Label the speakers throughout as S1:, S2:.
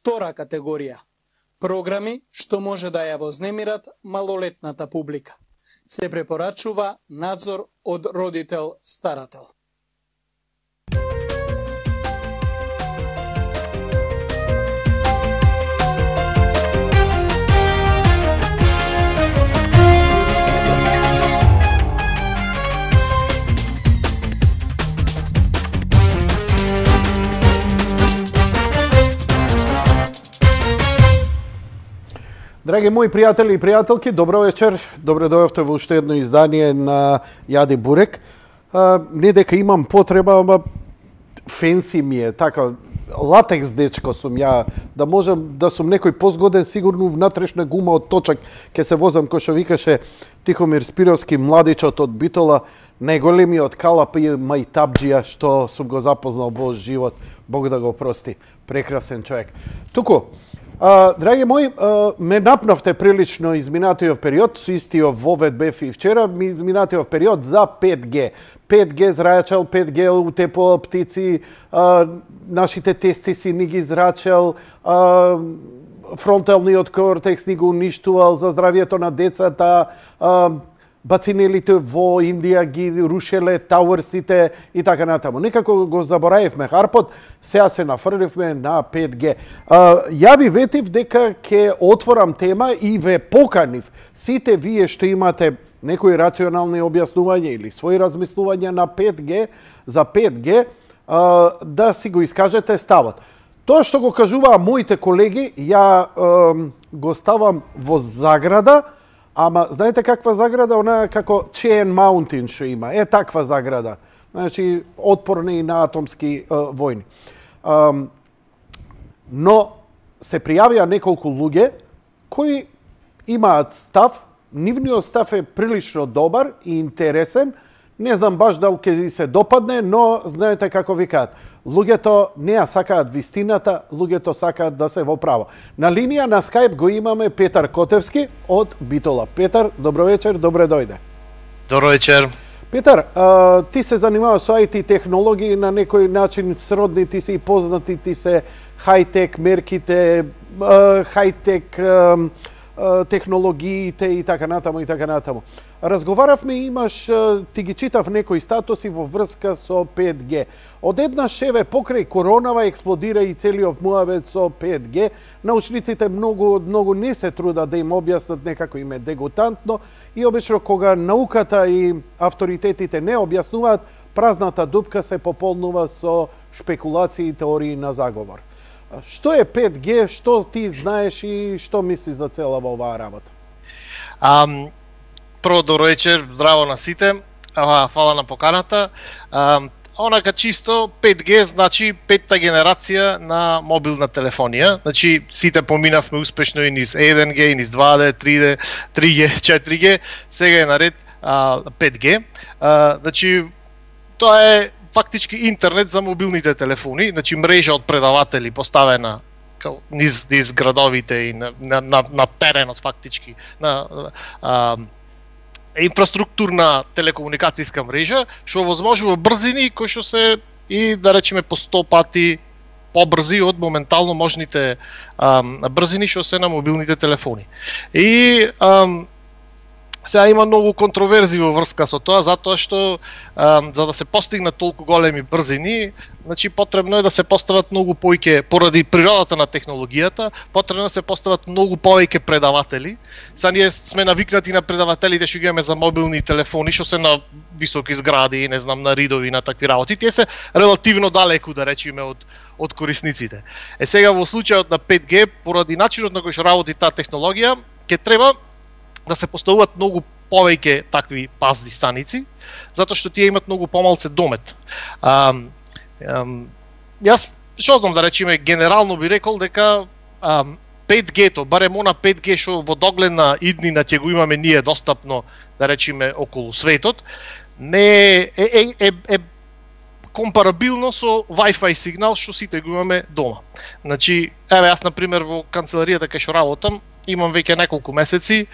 S1: Втора категорија. Програми што може да ја вознемират малолетната публика. Се препорачува надзор од родител-старател.
S2: Драги мои пријатели и пријателки, добро вечер. Добро дојавте во уште едно издание на Јади Бурек. Не дека имам потреба, ама фенси ми е, така, латекс дечко сум ја, да можам да сум некој позгоден, сигурно внатрешна гума од точак, ке се возам, кој што викаше Тихомир Спировски, младичот од Битола, најголемиот калап и мајтабџија што сум го запознал во живот. Бог да го прости, прекрасен човек. Туку, драги мои, ме напнавте прилично изминатиот период, со истиот вовед бев и вчера, изминатиот период за 5G. 5G зрачел, 5G утепо птици, нашите тестиси ни ги зрачел, фронталниот кортекс ни го уништувал за здравието на децата, бацинелите во Индија ги рушеле, тауерсите и така натаму. Некако го заборавивме Харпот, сега се нафрливме на 5G. Ја ви ветив дека ќе отворам тема и ве поканив сите вие што имате некои рационални објаснувања или своји размислувања на 5G, за 5G, да си го искажете ставот. Тоа што го кажуваа моите колеги, ја го ставам во заграда. Ама, знаете каква заграда? Она како Chain Mountain што има. Е таква заграда. Значи, отпорни на атомски војни. Но се пријавија неколку луѓе кои имаат став, нивниот став е прилично добар и интересен. Не знам баш дали ќе се допадне, но знаете како викаат. Луѓето не ја сакаат вистината, луѓето сакаат да се во право. На линија на Skype го имаме Петар Котевски од Битола. Петар, добро вечер, добре дојде.
S3: Добро вечер.
S2: Петар, ти се занимаваш со IT технологии, на некој начин сродни ти се и познати ти се хајтек мерките, хајтек технологиите и така натаму и така натаму. Разговаравме, имаш, ти ги читав некои статуси во врска со 5G. Одеднаш еве покрај коронава експлодира и целиот муавет со 5G. Научниците многу не се трудат да им објаснат, некако им е дегутантно и обично кога науката и авторитетите не објаснуваат, празната дупка се пополнува со шпекулации и теории на заговор. Што е 5G, што ти знаеш и што мислиш за цела оваа работа?
S3: Прво, добро вечер, здраво на сите. Фала на поканата. Онака чисто 5G значи петта генерација на мобилна телефонија. Значи сите поминавме успешно и низ 1G, и низ 2G, 3G, 4G, сега е наред 5G. Значи тоа е фактички интернет за мобилните телефони, значи мрежа од предаватели поставена низ градовите и на теренот фактички, на инфраструктурна телекомуникацијска мрежа, што овозможува брзини кои што се и да речеме по 100 пати побрзи од моментално можните брзини што се на мобилните телефони. И сега има многу контроверзии во врска со тоа, затоа што за да се постигнат толку големи брзини, значи потребно е да се постават многу повеќе, поради природата на технологијата, потребно да се постават многу повеќе предаватели. Сега ние сме навикнати на предавателите што ги имаме за мобилни телефони, што се на високи згради, не знам, на ридови, на такви работи. Тие се релативно далеку, да речеме, од корисниците. Сега во случајот на 5G, поради начинот на кој што работи таа технологија, ќе треба да се поставуваат многу повеќе такви пазни станици, затоа што тие имат многу помалце домет. Јас што знам да речеме, генерално би рекол дека 5G-то, барем она 5G што во догледна иднина ќе го имаме ние достапно, да речеме, околу светот, не е компарабилно со Wi-Fi сигнал што сите го имаме дома. Значи, еве јас на пример во канцеларијата кај што работам, имам веќе неколку месеци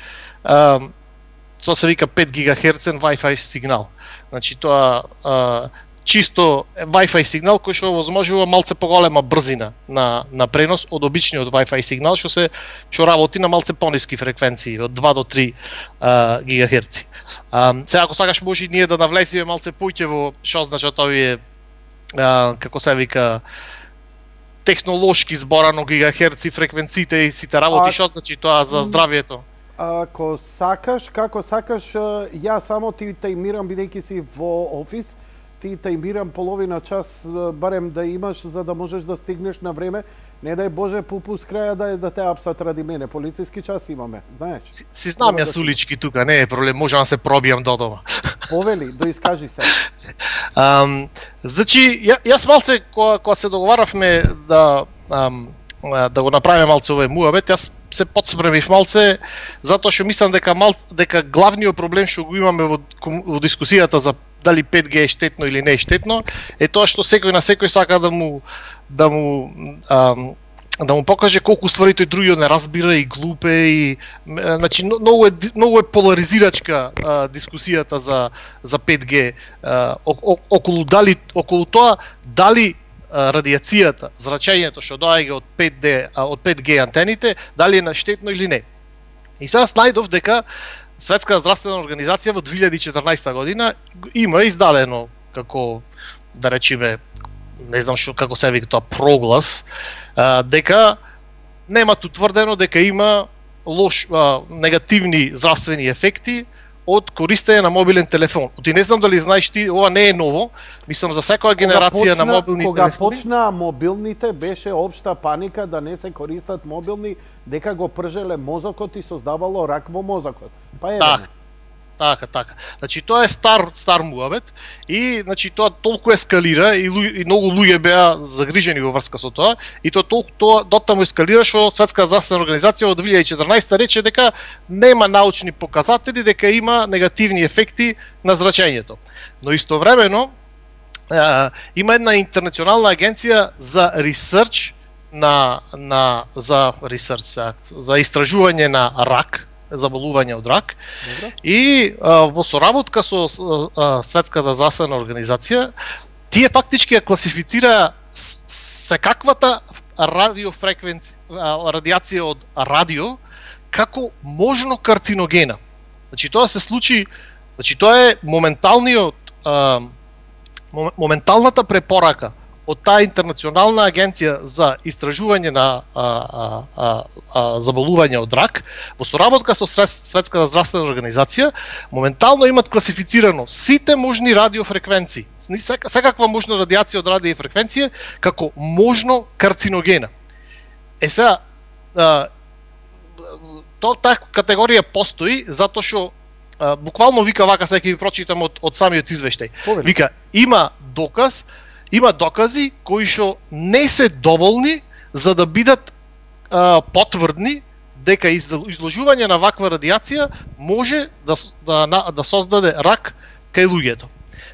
S3: тоа се вика 5 GHz Wi-Fi сигнал. Значи тоа чисто Wi-Fi сигнал кој што возможува малце поголема брзина на пренос од обичниот Wi-Fi сигнал што работи на малце пониски фреквенции од 2 до 3 гигахерци. Сега ако сакаш може ние да навлеземе малце поќе во што значат овие како се вика технолошки зборано гигахерци фреквенциите и сите работи, што значи тоа за здравието?
S2: Ако сакаш, како сакаш, ја само ти тајмирам бидејќи си во офис, ти тајмирам половина час барем да имаш за да можеш да стигнеш на време. Не дај Боже пупус краја да те апсат ради мене. Полициски час имаме, знаеш.
S3: Си знам јас улички тука, не е проблем, можам да се пробијам до дома.
S2: Повели, доискажи се.
S3: Значи, јас малце кога се договаравме да го направиме малце овој муабет, јас се подспремив малце затоа што мислам дека главниот проблем што го имаме во дискусијата за дали 5G е штетно или не е штетно е тоа што секој на секој сака да му покаже колку ствари тој другиот не разбира и глупе и значи многу е поларизирачка дискусијата за 5G околу тоа дали радиацијата, зрачењето што доаѓа од 5G антените, дали е штетно или не. И сега најдов дека Светска здравствена организација во 2014 година има издадено како да речеме не знам што како се вика тоа проглас дека немат утврдено дека има негативни здравствени ефекти од користење на мобилен телефон. Ти не знам дали знаеш ти, ова не е ново, мислам за секоја генерација на мобилни телефони.
S2: Кога почнаа мобилните, беше општа паника да не се користат мобилни, дека го пржеле мозокот и создавало рак во мозокот. Па е
S3: Така. Значи тоа е стар муабет и значи тоа толку ескалира и многу луѓе беа загрижени во врска со тоа и тоа дотаму ескалира што Светска здравствена организација во 2014 рече дека нема научни показатели дека има негативни ефекти на зрачењето. Но истовремено има една интернационална агенција за ресерч за истражување на рак, заболување од рак. Добре. И во соработка со Светската здравствена организација тие фактички ја класифицира секаквата радиација од радио како можно карциногена. Значи тоа се случи, значи тоа е моменталната препорака од таа интернационална агенција за истражување на заболување од рак, во соработка со Светската здравствена организација, моментално имат класифицирано сите можни радиофреквенции, секаква можна радиација од радиофреквенција како можно карциногена. Сега, таа категорија постои затоа што буквално вика вака, сега ќе ви прочитам од самиот извештај. Вика, има докази кои што не се доволни за да бидат потврдни дека изложување на ваква радиација може да создаде рак кај луѓето.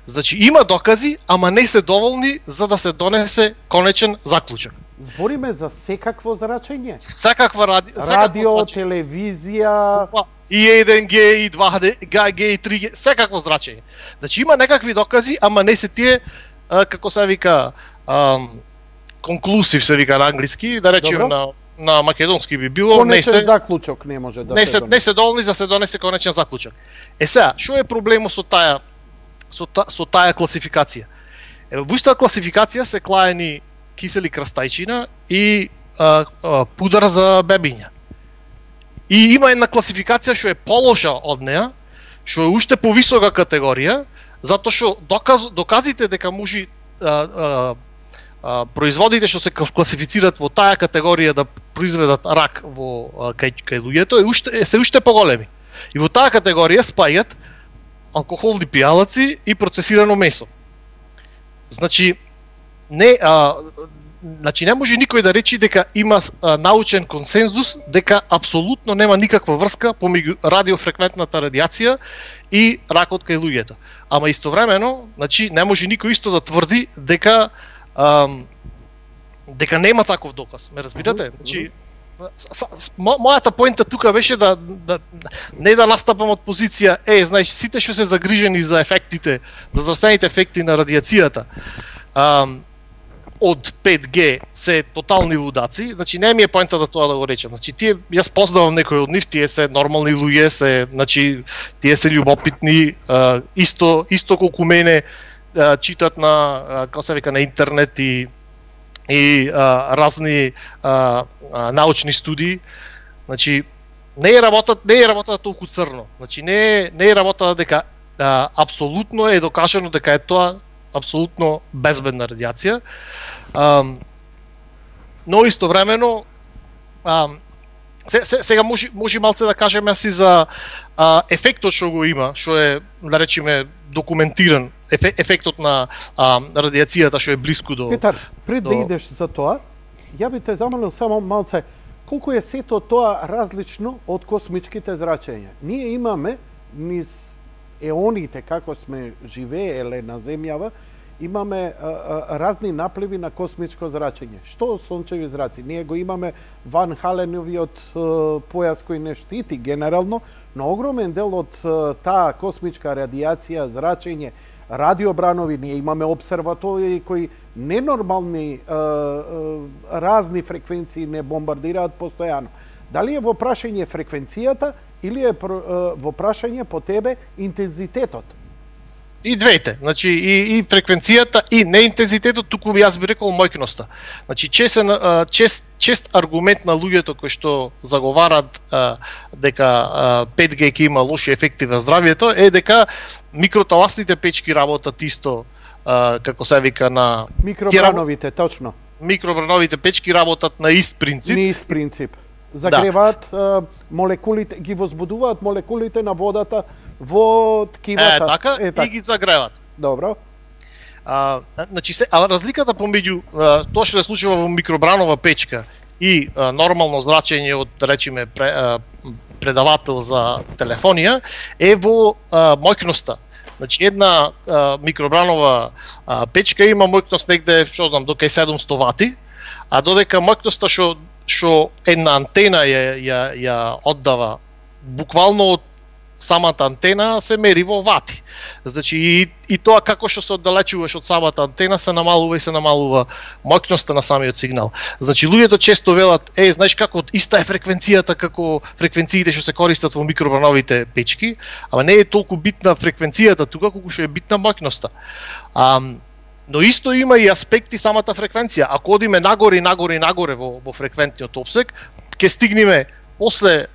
S3: Значи има докази, ама не се доволни за да се донесе конечен заклучок.
S2: Збориме за секакво зрачење?
S3: Секаква
S2: радио, телевизија,
S3: и 1G, и 2G, и 3G, секакво зрачење. Значи има некакви докази, ама не се тие како се вика конклусив се вика на англиски, да речеме на македонски би било,
S2: конечен заклучок не може да се
S3: донесе. Не се доволни за се донесе конечен заклучок. Сега, што е проблемот со таа класификација? Во истата класификација се клаени кисели крстајчина и пудар за бебиња. И има една класификација што е полоша од неа, што е уште повисока категорија, затоа што доказите дека може производите што се класифицираат во таа категорија да произведат рак кај луѓето се уште поголеми. И во таа категорија спаѓаат алкохолни пијалаци и процесирано месо. Значи не може никој да речи дека има научен консензус дека апсолутно нема никаква врска помеѓу радиофреквентната радиација и ракот кај луѓето. Ама истовремено, значи не може никој исто да тврди дека нема таков доказ. Ме разбирате? мојата поинта тука беше да не да настапам од позиција, знаеш, сите што се загрижени за ефектите, за здравствените ефекти на радиацијата, од 5G се тотални лудаци, значи не ми е поинта да тоа да го речам. Значи јас познавам некои од нив, тие се нормални луѓе, значи тие се љубопитни, исто колку мене читат на како се вика на интернет и разни научни студии. Значи не е работата толку црно. Значи не е работата дека апсолутно е докажано дека е тоа апсолутно безбедна радиација. Но истовремено сега може малце да кажеме си за ефектот што го има, што е, да речеме, документиран, ефектот на радиацијата што е блиску до...
S2: Петар, пред да идеш за тоа, ја би те замолил само малце, колку е сето тоа различно од космичките зрачења? Ние имаме низ еоните како сме живееле на земјава, имаме разни напливи на космичко зрачење. Што сончеви зраци? Ние го имаме Ван Халеновиот појас кој не штити генерално, но огромен дел од таа космичка радиација, зрачење, радиобранови, ние имаме обсерватории кои ненормални разни фреквенции не бомбардираат постојано. Дали е во прашање фреквенцијата или е во прашање по тебе интензитетот?
S3: И двете, значи и фреквенцијата и неинтензитетот, туку јас би рекол мојкноста. Значи чест аргумент на луѓето кои што заговарат дека 5G ќе има лоши ефекти на здравјето е дека микроталасните печки работат исто како се вика на
S2: микробрановите, точно.
S3: Микробрановите печки работат на ист принцип.
S2: На ист принцип. Загреваат молекулите, ги возбудуваат молекулите на водата во ткивата.
S3: Така, и ги загреват.
S2: Добро.
S3: Значи разликата помеѓу тоа што се случува во микробранова печка и нормално зрачење од, речеме, предавател за телефонија е во мојкноста. Значи една микробранова печка има мојкност негде, што знам, до кај 700 вати, а додека мојкноста што една антена ја оддава буквално од самата антена се мери во вати. Значи и тоа како што се оддалечуваш од самата антена се намалува мојкноста на самиот сигнал. Значи луѓето често велат, знаеш како иста е фреквенцијата како фреквенциите што се користат во микробрановите печки, ама не е толку битна фреквенцијата тука колку што е битна мојкноста. Но исто има и аспекти самата фреквенција. Ако одиме нагоре во фреквентниот опсек, ќе стигнеме после,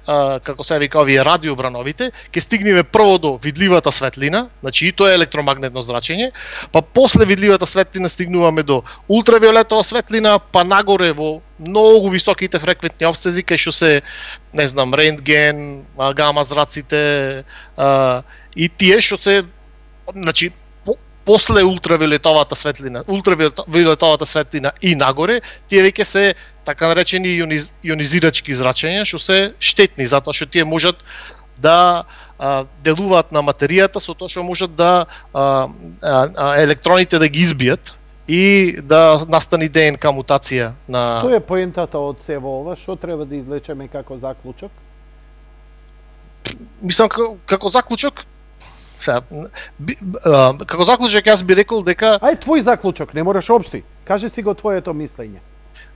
S3: како се вика овие радиобрановите, ќе стигнеме прво до видливата светлина, значи и тоа е електромагнетно зрачење, па после видливата светлина стигнуваме до ултравиолетова светлина, па нагоре во многу високите фреквентни опсези, кај што се, не знам, рентген, гама зраците, и тие што се, значи, после ултравиолетовата светлина и нагоре, тие веќе се така наречени ионизирачки зрачења, што се штетни, затоа што тие можат да делуваат на материјата, со тоа што можат да електроните да ги избијат и да настани ДНК мутација на...
S2: Што е поентата од сево ова? Што треба да извлечеме како заклучок?
S3: Мислам, како заклучок, како заклучок јас би рекол дека...
S2: Ај, твој заклучок, не мораш општи. Кажи си го твоето мислење.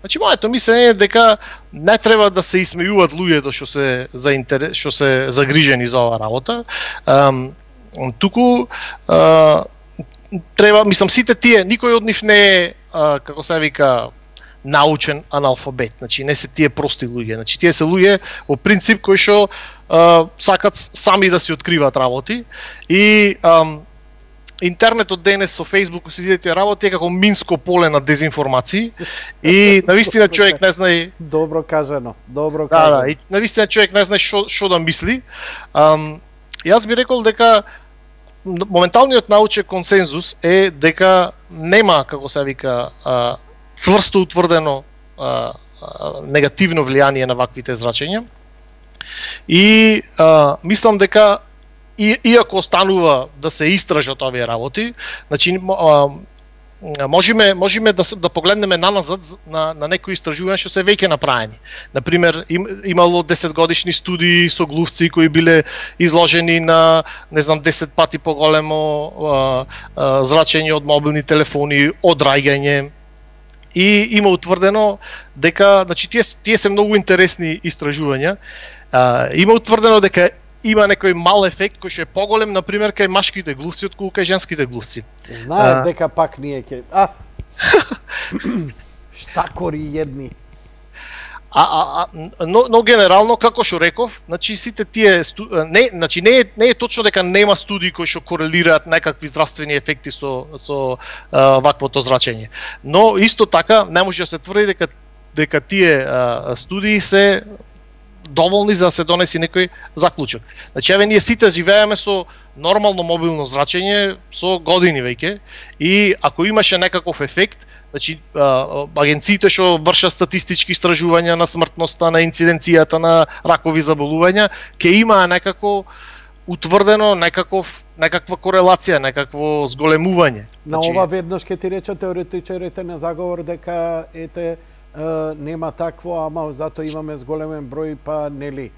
S3: Значи, моето мислење е дека не треба да се исмејуваат луѓето што се загрижени за оваа работа. Туку треба, мислам, сите тие, никој од нив не е, како се вика, научен аналфабет. Значи, не се тие прости луѓе. Значи, тие се луѓе во принцип кои што сакат сами да си откриваат работи и интернетот денес со Facebook се изидете работи е како минско поле на дезинформации и навистина човек не знае...
S2: Добро кажано, добро кажано.
S3: Да, и навистина човек не знае што да мисли. Јас би рекол дека моменталниот научен консензус е дека нема, како се вика, цврсто утврдено негативно влијание на ваквите зрачења. И мислам дека иако останува да се истражат овие работи, значи можеме да погледнеме наназад на некои истражувања што се веќе направени. Например, имало 10 годишни студии со глувци кои биле изложени на, не знам, 10 пати поголемо зрачење од мобилни телефони, одраѓање. И има утврдено дека, значи тие се многу интересни истражувања. Има утврдено дека има некој мал ефект кој што е поголем, например, кај машките глувци отколку кај женските глувци.
S2: Знаев дека пак ние ќе... Штакори едни.
S3: Но генерално, како што реков, значи сите тие не е точно дека нема студии кои што корелираат некакви здравствени ефекти со ваквото зрачење. Но исто така не може да се тврди дека тие студии се доволни за да се донеси некој заклучок. Значи, еве ние сите живееме со нормално мобилно зрачење со години веќе и ако имаше некаков ефект, значи агенциите што вршат статистички истражувања на смртноста, на инциденцијата на ракови заболувања, ќе има некако утврдено некаква корелација, некакво зголемување.
S2: На ова веднаш ќе ти рече теоретичарите на заговор дека нема такво, ама зато имаме зголемен број, па нели.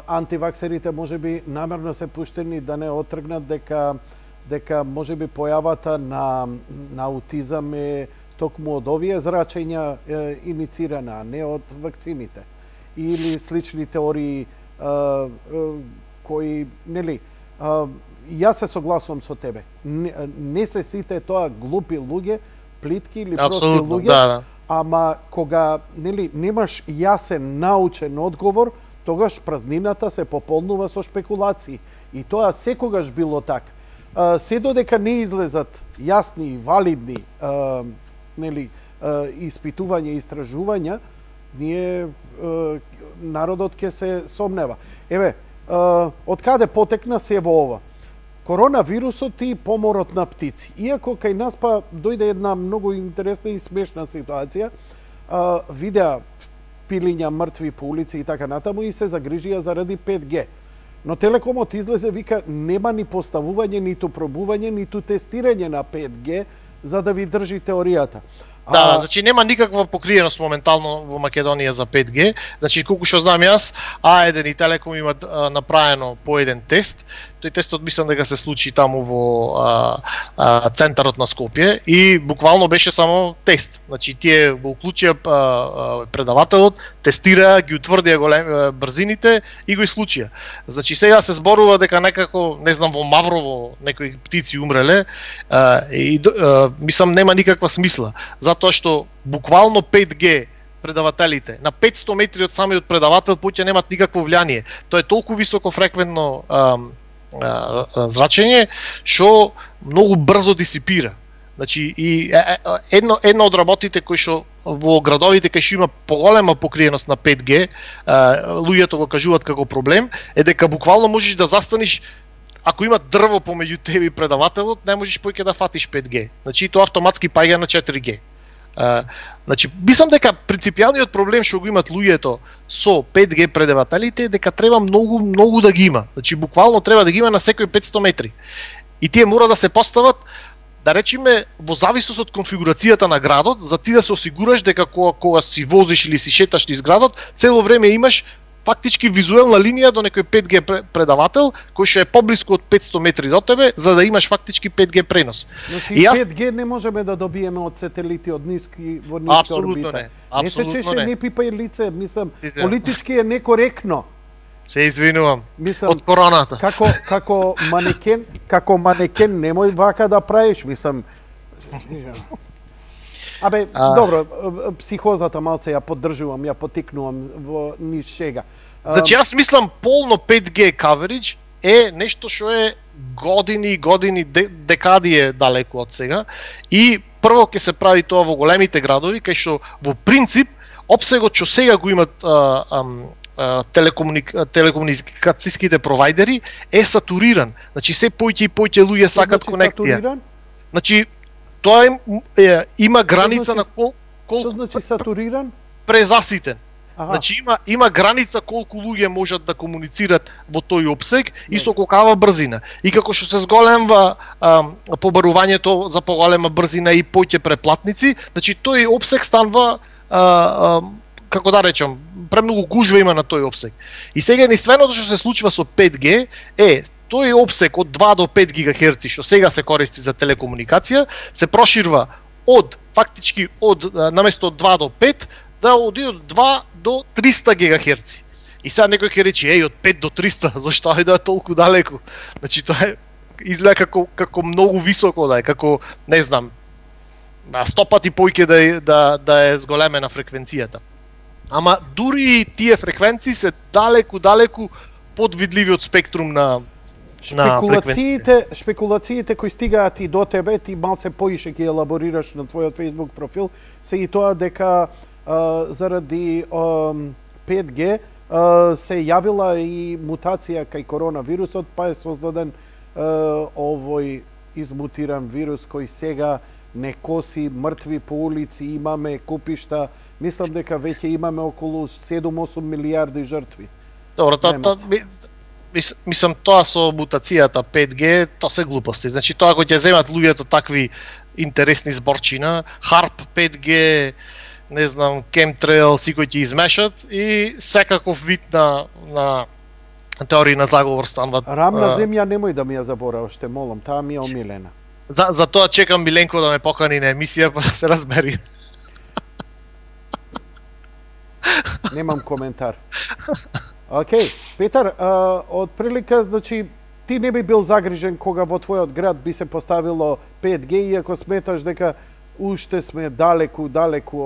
S2: Антиваксерите можеби намерно се пуштени да не отргнат дека можеби појавата на аутизам е токму од овие зрачења иницирана, а не од вакцините. Или слични теории кои, нели, јас се согласувам со тебе. Не се сите тоа глупи луѓе, плитки или прости луѓе,
S3: да.
S2: Ама кога немаш јасен научен одговор, тогаш празнината се пополнува со шпекулации. И тоа секогаш било така. Се додека не излезат јасни и валидни испитувања и истражувања, ние народот ќе се сомнева. Еве, од каде потекна се во ова? Коронавирусот и поморот на птици. Иако кај нас па дојде една многу интересна и смешна ситуација, видеа пилиња мртви по улици и така натаму и се загрижија заради 5G. Но Телекомот излезе, вика, нема ни поставување, ниту пробување, ниту тестирање на 5G за да ви држи теоријата.
S3: Да, значи нема никаква покриеност моментално во Македонија за 5G. Значи колку што знам јас, А1 и Телеком имат направено по еден тест. Тој тестот мислам дека се случи таму во центарот на Скопје и буквално беше само тест. Значи тие го уклучија предавателот, тестираа, ги утврдија брзините и го исклучија. Значи сега се зборува дека некако, не знам, во Маврово некои птици умреле и мислам нема никаква смисла. Затоа што буквално 5G предавателите на 500 метри од самиот предавател поќе немат никакво влијание. Тоа е толку високофреквентно зрачење што многу брзо дисипира. Значи и една од работите кои што во градовите кај што има поголема покриеност на 5G, луѓето го кажуваат како проблем, е дека буквално можеш да застаниш. Ако има дрво помеѓу тебе и предавателот, не можеш поќе да фатиш 5G. Значи тоа автоматски паѓа на 4G. Значи, мислам дека принципијалниот проблем што го имат луѓето со 5G предавателите е дека треба многу да ги има. Значи, буквално треба да ги има на секој 500 метри. И тие мора да се постават, да речеме, во зависност од конфигурацијата на градот, за ти да се осигураш дека кога си возиш или си шеташ низ градот, цело време имаш фактички визуелна линија до некој 5G предавател кој што е поблиску од 500 метри до тебе, за да имаш фактички 5G пренос.
S2: Значи 5G не можеме да добиеме од сателити од ниски орбита. Не се чеше, не пипај лице, мислам, политички е некоректно.
S3: Се извинувам. Од короната.
S2: Како манекен немој вака да правиш, мислам. Добро, психозата малце ја поддржувам, ја потикнувам во низ шега.
S3: Значи јас мислам полно 5G coverage е нешто што е години, декади е далеку од сега и прво ќе се прави тоа во големите градови кај што во принцип опсегот што сега го имат телекомуникацијските провајдери е сатуриран. Значи се поќе и поќе луѓе сакат конекција. Значи тоа има граница на колку.
S2: Што значи сатуриран?
S3: Презаситен. Значи има граница колку луѓе можат да комуницират во тој опсег и со колкава брзина. И како што се зголемва побарувањето за поголема брзина и поќе преплатници, значи тој опсег станува како да речам, премногу гужва има на тој опсег. И сега единственото што се случува со 5G е тој опсег од 2 до 5 ГHz што сега се користи за телекомуникација се проширва фактички наместо 2 до 5 да оди од 2 до 300 ГHz. И сега некој ќе рече, од 5 до 300, зашто е толку далеку? Значи тоа изгледа како многу високо да е, како не знам, 100 пати поиќе да е зголемена фреквенцијата. Ама дури тие фреквенции се далеку подвидливи од спектрум на
S2: Шпекулациите кои стигаат и до тебе, ти малце поише ги елаборираш на твојот Facebook профил, се и тоа дека заради 5G се јавила и мутација кај коронавирусот, па е создаден овој измутиран вирус кој сега не коси мртви по улици, имаме купишта, мислам дека веќе имаме околу 7-8 милиарди жртви.
S3: Добро, мислам тоа со мутацијата 5G, тоа се глупости. Значи тоа кога ќе земат луѓето такви интересни зборчина, HARP 5G, не знам, chemtrail, си кои ќе измешат и секаков вид на теории на заговор станват.
S2: Рамна земја немој да ми ја забораваш, те молам, таа ми е омилена.
S3: За тоа чекам Миленко да ме покани на емисија, па да се разбери.
S2: Немам коментар. Океј, Петар, од прилика, значи, ти не би бил загрижен кога во твојот град би се поставило 5G, иако сметаш дека уште сме далеку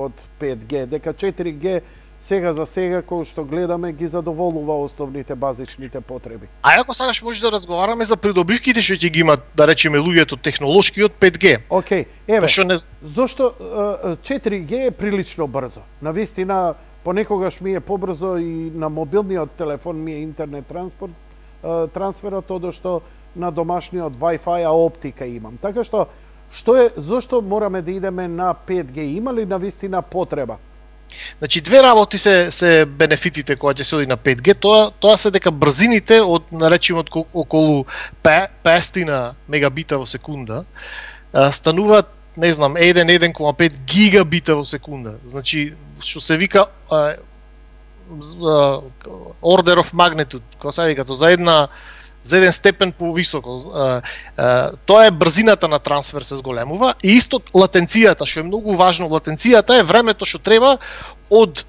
S2: од 5G, дека 4G сега за сега, кој што гледаме, ги задоволува основните базичните потреби.
S3: А ако сакаш може да разговараме за придобивките што ќе ги имат, да речеме, луѓето технолошки од 5G.
S2: Океј, еве, зошто 4G е прилично брзо? Навистина, понекогаш ми е побрзо и на мобилниот телефон ми е интернет трансферот, одошто на домашниот Wi-Fi оптика имам. Така што, зошто мораме да идеме на 5G? Има ли навистина потреба?
S3: Значи, две работи се бенефитите кога ќе се оди на 5G, тоа се дека брзините од, наречимо, околу 500 мегабита во секунда, стануваат, не знам, 1,5 гигабита во секунда. Значи, што се вика order of magnitude, кога се вика, за еден степен повисоко. Тоа е брзината на трансфер се зголемува и исто латенцијата, што е многу важно. Латенцијата е времето што треба од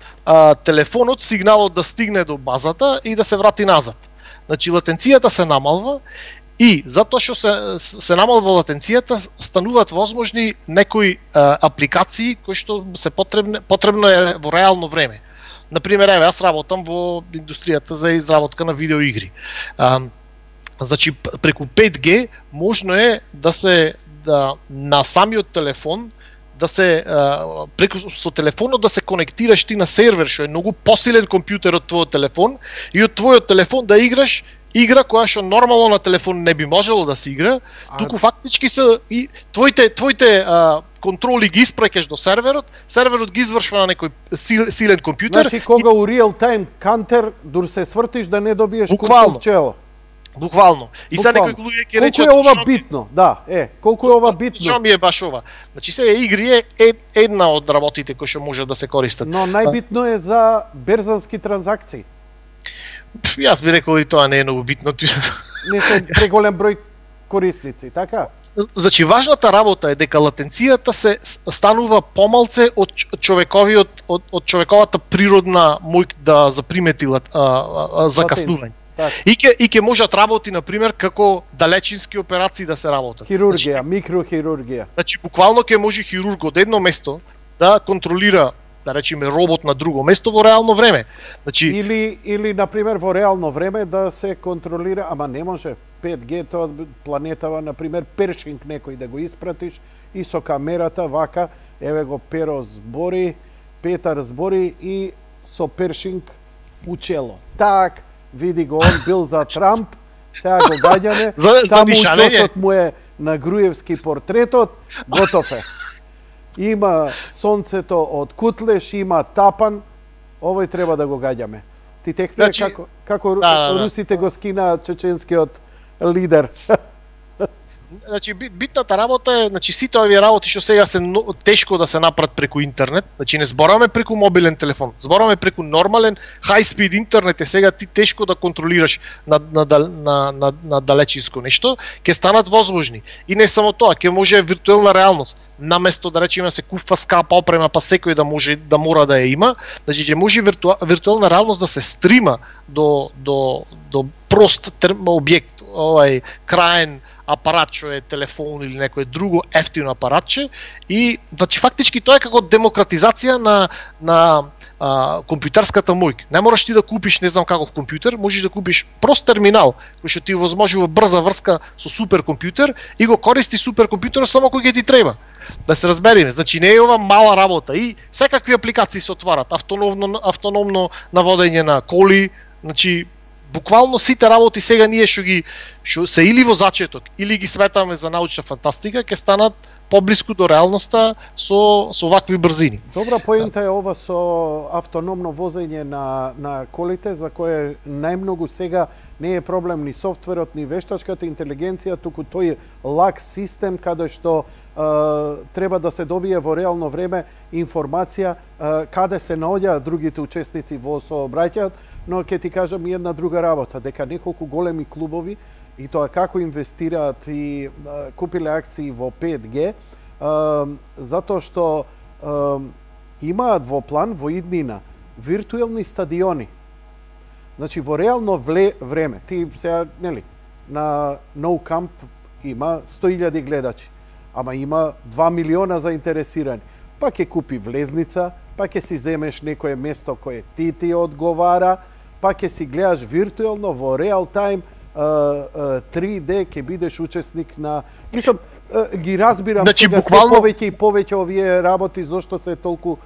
S3: телефонот, сигналот да стигне до базата и да се врати назад. Значи латенцијата се намалва и затоа што се намалва латенцијата, стануваат возможни некои апликации кои што се потребно е во реално време. Например, еве, јас работам во индустријата за изработка на видеоигри. Значи, преку 5G можно е на самиот телефон со телефонот да се конектираш ти на сервер, што е многу посилен компјутер од твојот телефон, и од твојот телефон да играш игра која што нормално на телефон не би можело да се игра, туку фактички и твоите контроли ги испраќаш до серверот ги извршва на некој силен компјутер.
S2: Значи, кога у real time counter дур се свртиш да не добиеш кука в чело.
S3: Буквално. И сега некои луѓе ќе речат
S2: колку е ова битно? Да, колку е ова битно?
S3: Што ми е баш ова? Значи сега игри е една од работите кои што може да се користат.
S2: Но најбитно е за берзански транзакции.
S3: Јас би рекол и тоа не е многу битно.
S2: Не се преголем број корисници, така?
S3: Значи важната работа е дека латенцијата се станува помалце од човековата природна моќ да запримети закаснување. И ќе можат работи, например, како далечински операции да се работат.
S2: Хирургија, микрохирургија.
S3: Значи, буквално ќе може хирург од едно место да контролира, да речеме, робот на друго место во реално време. Значи,
S2: или например, во реално време да се контролира, ама не може 5G, тоа планетава, например, першинг некој да го испратиш и со камерата вака, еве го Петар збори и со першинг у чело. Так, види го, он бил за Трамп, сега го гаѓаме, таму чосот му е на Груевски портретот, готов е. Има сонцето од Кутлеш, има тапан, овој треба да го гаѓаме. Ти текнува како русите го скина чеченскиот лидер.
S3: Значи битната работа е, значи сите овие работи што сега се тешко да се направат преку интернет, значи не збораме преку мобилен телефон, збораме преку нормален high speed интернет, е сега ти тешко да контролираш на далечинско нешто, ќе станат возможни. И не само тоа, ќе може виртуелна реалност. Наместо да речеме се купува скапа опрема, па секој да мора да ја има, значи ќе може виртуелна реалност да се стрима до прост објект, краен апарат што е телефон или некое друго ефтино апаратче, и значи фактички тоа е како демократизација на компјутерската моќ. Не мораш ти да купиш не знам каков компјутер, можеш да купиш прост терминал кој што ти овозможува брза врска со суперкомпјутер и го користи суперкомпјутерот само кога ќе ти треба. Да се разбереме, значи не е ова мала работа и секакви апликации се отварат, автономно наводење на коли, значи буквално сите работи сега ние што се или во зачеток или ги сметаме за научна фантастика, ќе станат поблиску до реалноста со вакви брзини.
S2: Добра поента е ова со автономно возење на колите, за кое најмногу сега не е проблем ни софтверот, ни вештачката интелигенција, туку тој лак систем каде што треба да се добие во реално време информација каде се наоѓаат другите учесници во сообраќајот, но ќе ти кажам и една друга работа, дека неколку големи клубови и тоа како инвестираат и купиле акции во 5G, затоа што имаат во план во иднина виртуелни стадиони. Значи во реално време, ти сега, нели, на No Camp има 100.000 гледачи, ама има 2 милиона заинтересирани. Па ќе купи влезница, па ќе си земеш некое место кое ти одговара, па ќе си гледаш виртуелно во реал тајм 3D, ќе бидеш учесник на... Мислам, ги разбирам
S3: значи,
S2: сега
S3: буквално...
S2: се повеќе и повеќе овие работи, зошто се толку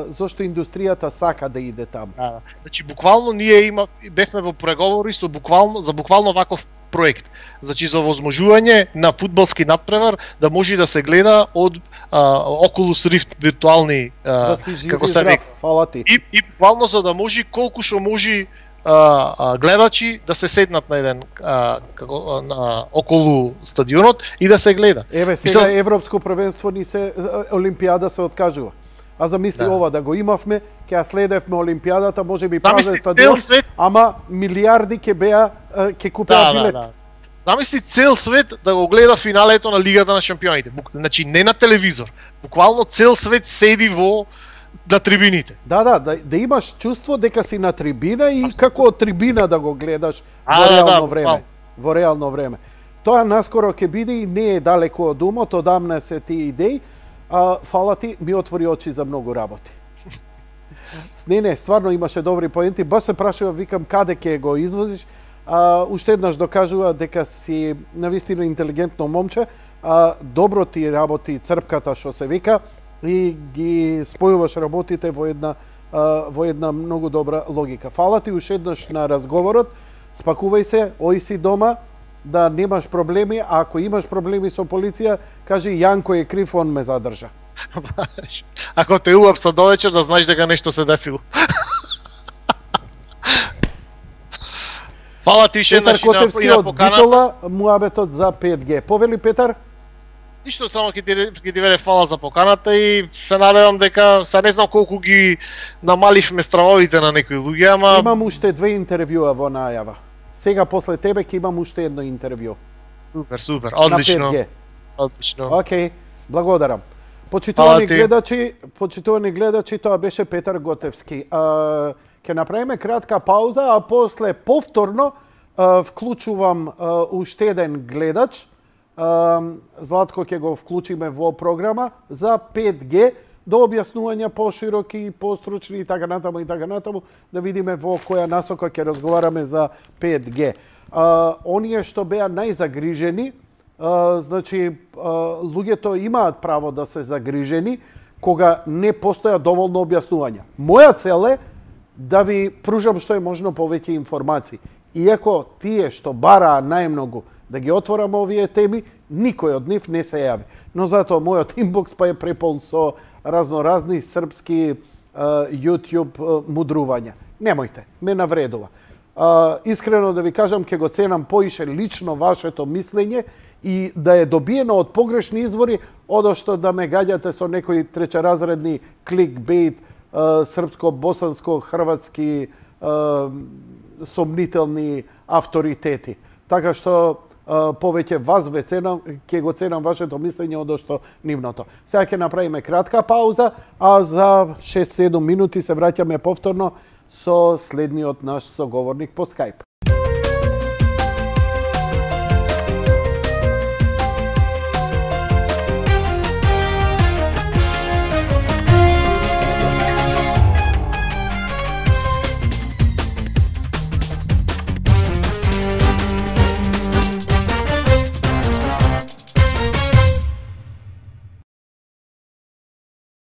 S2: зошто индустријата сака да иде таму.
S3: Значи буквално ние бевме во преговори за буквално ваков проект. Значи за возможување на фудбалски надпревар да може да се гледа од Oculus Rift виртуални
S2: да си жив
S3: како
S2: и
S3: се
S2: здрав, фала ти.
S3: И буквално за да може колку што може гледачи да се седнат на еден околу стадионот и да се гледа.
S2: Еве сега европско првенство ни се олимпијада се откажува. А замисли ова да го имавме, ќе ја следевме олимпијадата, можеби празен стадион, ама милиарди ќе купеа билет.
S3: Замисли цел свет да го гледа финалето на Лигата на шампионите. Значи не на телевизор. Буквално цел свет седи на трибините.
S2: Да имаш чувство дека си на трибина и како од трибина да го гледаш во реално време. Во реално време. Тоа наскоро ќе биде и не е далеко од умот, одамна се тие идеи. Фала ти, ми отвори очи за многу работи. Не, стварно имаше добри поенти. Баш се прашува, викам, каде ќе го извозиш. Уште еднаш докажува дека си навистина интелигентно момче. Добро ти работи црпката што се вика и ги спојуваш работите во една многу добра логика. Фала ти уште еднаш на разговорот. Спакувај се, ој си дома, да немаш проблеми, а ако имаш проблеми со полиција, кажи Јанко е крив, он ме задржа.
S3: Ако те уапса довечер, да знаеш дека нешто се десило. Фала ти ше
S2: Петар Котевски од Битола, муабетот за 5G. Повели Петар?
S3: Ништо, само ќе ти веле фала за поканата и се надевам дека, се не знам колку ги намаливме стравовите на некои луѓе, ама...
S2: Имам уште 2 интервјуа во најава. Сега после тебе ќе имам уште едно интервју.
S3: Супер, одлично.
S2: На 5G.
S3: Одлично.
S2: Океј, благодарам. Почитувани гледачи, тоа беше Петар Готевски. Ќе направиме кратка пауза, а после повторно вклучувам уште еден гледач. Златко ќе го вклучиме во програма за 5G, до објаснувања пошироки и постручни и така натаму, да видиме во која насока ќе разговараме за 5G. Оние што беа најзагрижени, значи луѓето имаат право да се загрижени кога не постоја доволно објаснувања. Моја цел е да ви пружам што е можно повеќе информации. Иако тие што бараа најмногу да ги отворам овие теми, никој од нив не се јави. Но затоа мојот инбокс па е преполн со разноразни српски YouTube мудрување. Немојте, ме навредува. Искрено да ви кажам, ке го ценам поише лично вашето мислење и да е добиено од погрешни извори, одошто да ме гаѓате со некои тречеразредни кликбейт, српско-босанско-хрватски сомнителни авторитети. Така што повеќе вас ќе го ценам вашето мислење одошто нивното. Сега ќе направиме кратка пауза, а за 6-7 минути се враќаме повторно со следниот наш соговорник по Skype.